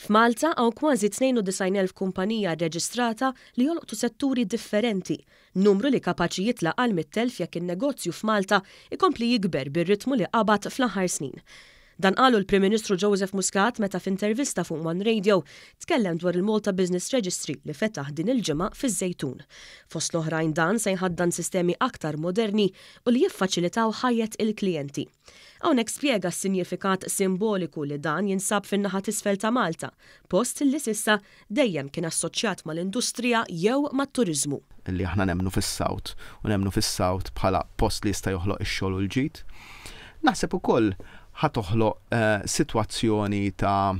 F'Malta hawn kważi 92,000 kumpanija rreġistrata li jolqtu setturi differenti, numru li kapaċi jitla' għal 100,000 jekk in-negozju f'Malta jkompli jikber bir-ritmu li qabad fl-aħħar snin. Dan qalu l-Prim Ministru Joseph Muscat meta f'intervista fuq One Radio tkellem dwar il-Malta Business Registry li fetaħ din il-ġimgħa fiż-Żejtun. Fost l-oħrajn dan se jħaddan sistemi aktar moderni u li jiffaċilitaw ħajjet il-klijenti. Hawnhekk spjega s-sinjifikat simboliku li dan jinsab fin-naħa t'isfel ta' Malta, post li s'issa dejjem kien assoċjat mal-industrija jew mat-turiżmu. Li aħna nemmnu fis-South u nemmnu fis-South bħala post li jista' joħloq ix-xogħol u l-ġid. Naħseb ukoll ħa toħloq sitwazzjoni ta'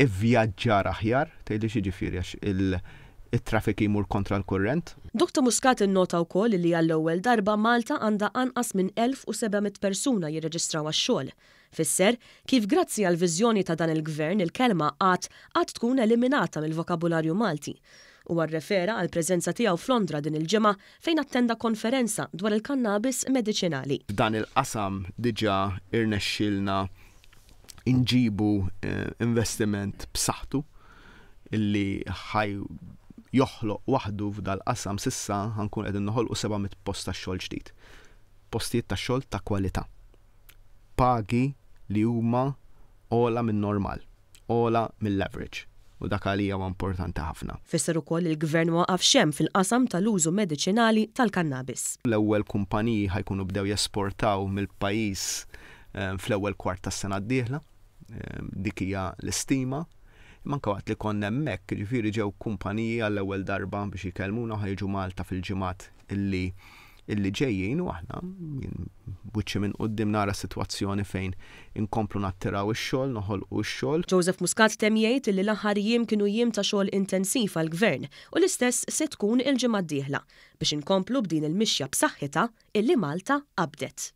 ivvjaġġar aħjar, tgħidli x'jiġifieri għax it-traffic jmur kontra l-kurrent. Dottor Muscat innota wkoll li għall-ewwel darba Malta għandha anqas minn 1,700 persuna jirreġistraw għax-xogħol. Fisser kif grazzi għall-viżjoni ta' dan il-Gvern il-kelma qgħad għad tkun eliminata mill-vokabularju Malti. Huwa rrefera għall-preżenza tiegħu f'Londra din il-ġimgħa fejn attenda konferenza dwar il-kannabis mediċinali. F'dan il-qasam diġà irnexxielna nġibu investiment b'saħħtu illi ħa joħloq waħdu f'dal-qasam s'issa ħa nkun qegħdin noħolqu 700 post ta' xogħol ġdid. Postijiet ta' xogħol ta' kwalità. Pagi li huma ogħla min-normal, ogħla mill-average u dak għalija huwa importanti ħafna. Fisser ukoll li l-Gvern ma waqafx hemm fil-qasam tal-użu mediċinali tal-kannabis. L-ewwel kumpaniji ħa jkunu bdew jesportaw mill-pajjiż fl-ewwel kwart tas-sena d-dieħla. Dik hija l-istima. Imma anke waqt li konna hemmhekk, jiġifieri ġew kumpaniji għall-ewwel darba biex jkellmuna u ħa jiġu Malta fil-ġimgħat illi illi ġejjin u aħna jien b'wiċċi minn quddiem nara sitwazzjoni fejn inkomplu nattiraw ix-xogħol, noħolqu x-xogħol. Joseph Muscat temm jgħid illi l-aħħar jiem kienu jiem ta' xogħol intensiv għall-Gvern u l-istess se tkun il-ġimgħa d-dieħla biex inkomplu b'din il-mixja b'saħħitha illi Malta qabdet.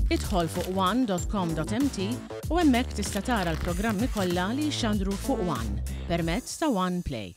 Idħol fuq one.com.mt u hemmhekk tista' tara l-programmi kollha li jixxandru fuq One permezz ta' One Play.